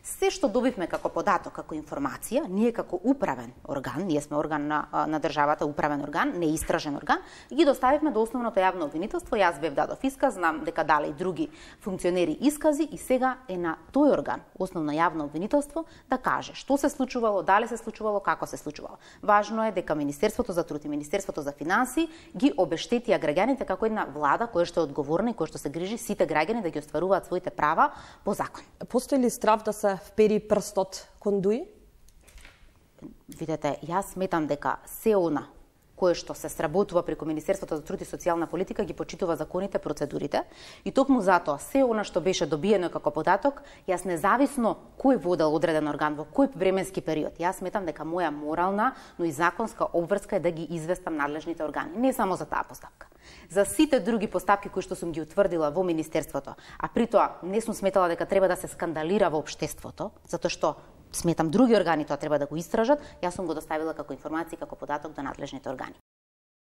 Се што добивме како податок, како информација, ние како управен орган, ние сме орган на државата, управен орган, не истражен орган, ги доставивме до основното јавно обвинителство. Јас бев дадов исказ, знам дека дале и други функционери искази и сега е на тој орган, основно јавно обвинителство, да каже што се случувало, дали се случувало, како се случувало. Важно е дека Министерството за труд и Министерството за финансии ги обештетија граѓаните како една влада која што е одговорна и која што се грижи сите граѓани да ги остваруваат своите права по закон. Постои ли страв да се впери прстот кон ДУИ? Видете, јас сметам дека се она кое што се сработува преку Министерството за труд и социјална политика ги почитува законите, процедурите и токму затоа се она што беше добиено како податок, јас независно кој водел одреден орган во кој временски период, јас сметам дека моја морална, но и законска обврска е да ги известам надлежните органи, не само за таа постапка. За сите други постапки кои што сум ги утврдила во Министерството, а при тоа не сум сметала дека треба да се скандалира во општеството, затоа што сметам други органи тоа треба да го истражат, јас сум го доставила како информација, како податок до надлежните органи.